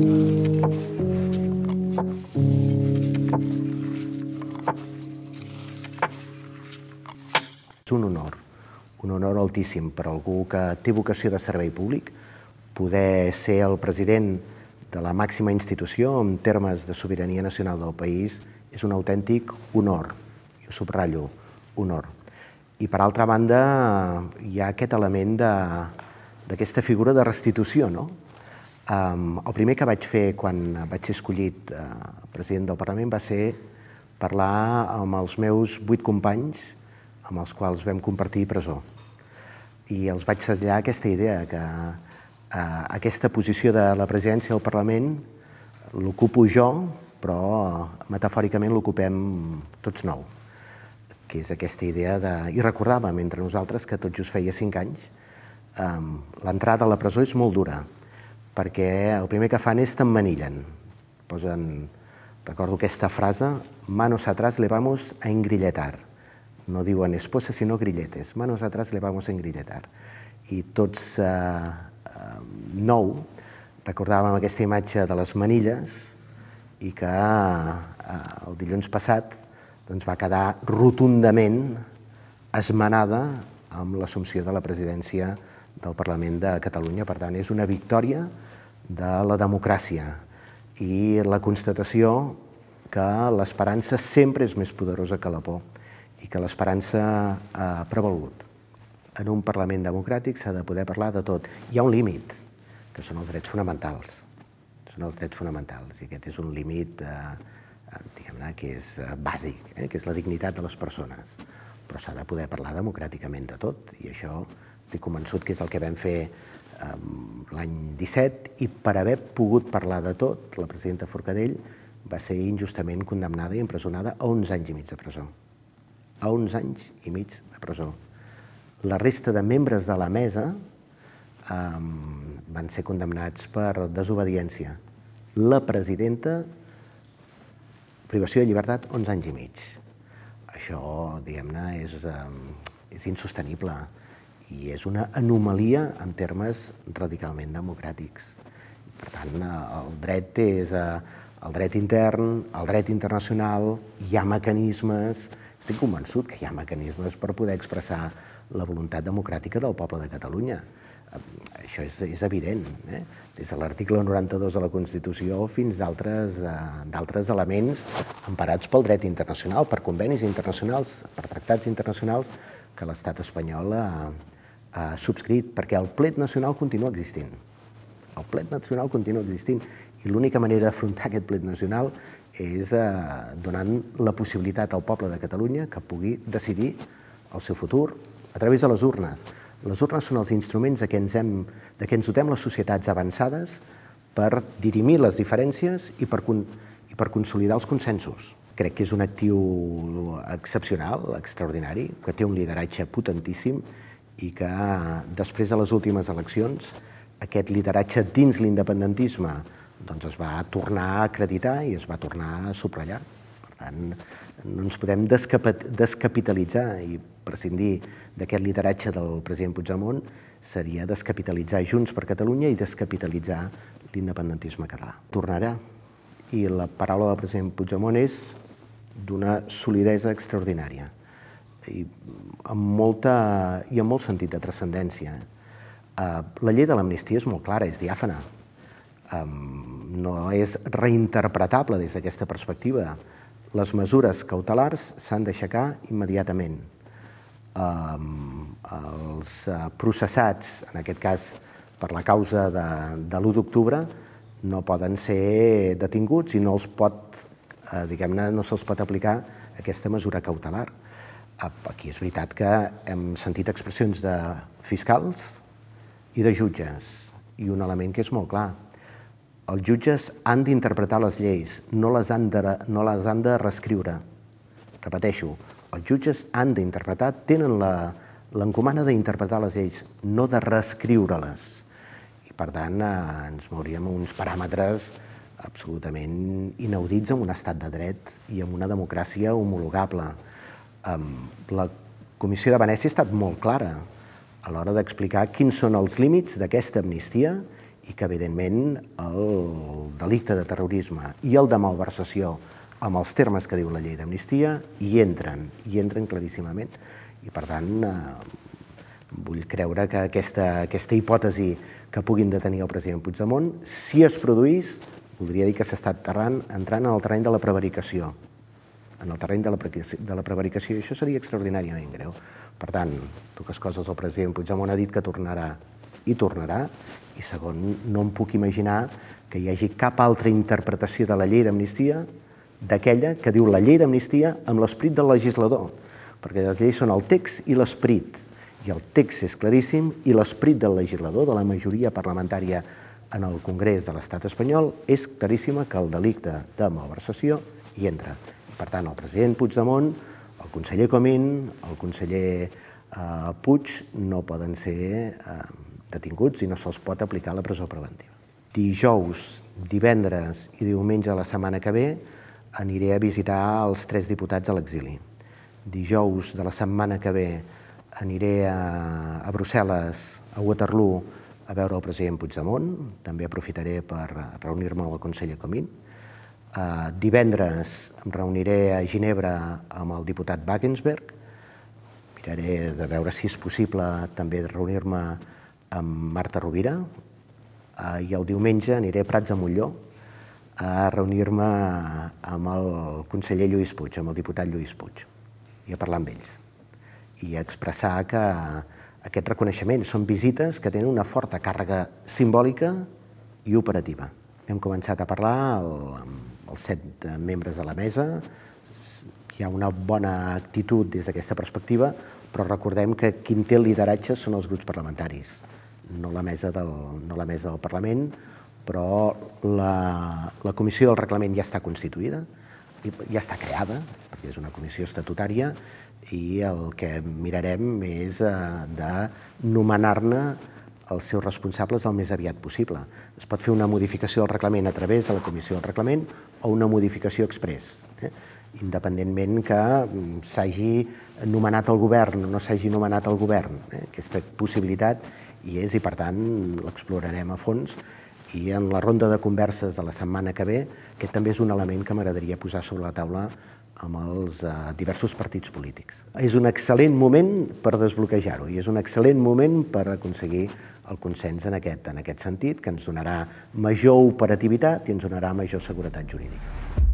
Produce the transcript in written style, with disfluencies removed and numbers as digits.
És un honor altíssim per algú que té vocació de servei públic. Poder ser el president de la màxima institució en termes de sobirania nacional del país és un autèntic honor, i ho subratllo, honor. I per altra banda hi ha aquest element d'aquesta figura de restitució, no? El primer que vaig fer quan vaig ser escollit president del Parlament va ser parlar amb els meus 8 companys amb els quals vam compartir presó. I els vaig traslladar aquesta idea que aquesta posició de la presidència del Parlament l'ocupo jo, però metafòricament l'ocupem tots 9, que és aquesta idea de... I recordàvem entre nosaltres que tot just feia 5 anys. L'entrada a la presó és molt dura, perquè el primer que fan és t'emmanillen. Recordo aquesta frase, manos atrás le vamos a engrilletar. No diuen esposa, sinó grilletes. Manos atrás le vamos a engrilletar. I tots 9 recordàvem aquesta imatge de les manilles i que el dilluns passat va quedar rotundament esmenada amb l'assumpció de la presidència del Parlament de Catalunya. Per tant, és una victòria de la democràcia i la constatació que l'esperança sempre és més poderosa que la por i que l'esperança ha prevalgut. En un Parlament democràtic s'ha de poder parlar de tot. Hi ha un límit, que són els drets fonamentals. Són els drets fonamentals, i aquest és un límit que és bàsic, que és la dignitat de les persones. Però s'ha de poder parlar democràticament de tot, i això estic convençut que és el que vam fer l'any 17, i per haver pogut parlar de tot, la presidenta Forcadell va ser injustament condemnada i empresonada a 11 anys i mig de presó. A 11 anys i mig de presó. La resta de membres de la mesa van ser condemnats per desobediència. La presidenta, privació de llibertat, 11 anys i mig. Això, diguem-ne, és insostenible i és una anomalia en termes radicalment democràtics. Per tant, el dret és el dret intern, el dret internacional, hi ha mecanismes, estic convençut que hi ha mecanismes per poder expressar la voluntat democràtica del poble de Catalunya. Això és evident, des de l'article 92 de la Constitució fins d'altres elements emparats pel dret internacional, per convenis internacionals, per tractats internacionals que l'estat espanyol ha subscrit, perquè el plet nacional continua existint. El plet nacional continua existint i l'única manera d'afrontar aquest plet nacional és donant la possibilitat al poble de Catalunya que pugui decidir el seu futur a través de les urnes. Les urnes són els instruments de què ens dotem les societats avançades per dirimir les diferències i per consolidar els consensos. Crec que és un actiu excepcional, extraordinari, que té un lideratge potentíssim i que després de les últimes eleccions aquest lideratge dins l'independentisme es va tornar a acreditar i es va tornar a subratllar. Per tant, no ens podem descapitalitzar, i prescindir d'aquest lideratge del president Puigdemont seria descapitalitzar Junts per Catalunya i descapitalitzar l'independentisme català. Tornarà, i la paraula del president Puigdemont és d'una solidesa extraordinària i amb molt sentit de transcendència. La llei de l'amnistia és molt clara, és diàfana. No és reinterpretable des d'aquesta perspectiva. Les mesures cautelars s'han d'aixecar immediatament. Els processats, en aquest cas per la causa de l'1 d'octubre, no poden ser detinguts i no se'ls pot aplicar aquesta mesura cautelar. Aquí és veritat que hem sentit expressions de fiscals i de jutges, i un element que és molt clar. Els jutges han d'interpretar les lleis, no les han de reescriure. Repeteixo, els jutges han d'interpretar, tenen l'encomana d'interpretar les lleis, no de reescriure-les. I per tant ens mouríem uns paràmetres absolutament inaudits en un estat de dret i en una democràcia homologable. La Comissió de Venècia ha estat molt clara a l'hora d'explicar quins són els límits d'aquesta amnistia i que, evidentment, el delicte de terrorisme i el de malversació amb els termes que diu la llei d'amnistia, hi entren claríssimament. I, per tant, vull creure que aquesta hipòtesi que puguin detenir el president Puigdemont, si es produís, voldria dir que s'està entrant en el terreny de la prevaricació. En el terreny de la prevaricació, i això seria extraordinàriament greu. Per tant, dues coses, el president Puigdemont ha dit que tornarà, i tornarà, i segon, no em puc imaginar que hi hagi cap altra interpretació de la llei d'amnistia d'aquella que diu la llei d'amnistia amb l'esperit del legislador, perquè les lleis són el text i l'esperit, i el text és claríssim, i l'esperit del legislador, de la majoria parlamentària en el Congrés de l'Estat espanyol, és claríssima que el delicte de malversació hi entra. I, per tant, el president Puigdemont, el conseller Comín, el conseller Puig no poden ser detinguts i no se'ls pot aplicar la presó preventiva. Dijous, divendres i diumenge de la setmana que ve aniré a visitar els 3 diputats a l'exili. Dijous de la setmana que ve aniré a Brussel·les, a Waterloo, a veure el president Puigdemont. També aprofitaré per reunir-me amb el conseller Comín. Divendres em reuniré a Ginebra amb el diputat Wagensberg. Miraré de veure si és possible també reunir-me amb Marta Rovira. I el diumenge aniré a Prats de Molló a reunir-me amb el conseller Lluís Puig, amb el diputat Lluís Puig, i a parlar amb ells. I a expressar que aquests reconeixements són visites que tenen una forta càrrega simbòlica i operativa. Hem començat a parlar amb els 7 membres de la mesa. Hi ha una bona actitud des d'aquesta perspectiva, però recordem que qui té el lideratge són els grups parlamentaris, no la mesa del Parlament, però la Comissió del Reglament ja està constituïda, ja està creada, perquè és una comissió estatutària, i el que mirarem és de nomenar-ne els seus responsables el més aviat possible. Es pot fer una modificació del reglament a través de la Comissió del Reglament o una modificació exprés, independentment que s'hagi nomenat el govern o no s'hagi nomenat el govern. Aquesta possibilitat hi és i, per tant, l'explorarem a fons. I en la ronda de converses de la setmana que ve, aquest també és un element que m'agradaria posar sobre la taula amb els diversos partits polítics. És un excel·lent moment per desbloquejar-ho i és un excel·lent moment per aconseguir el consens en aquest sentit, que ens donarà major operativitat i ens donarà major seguretat jurídica.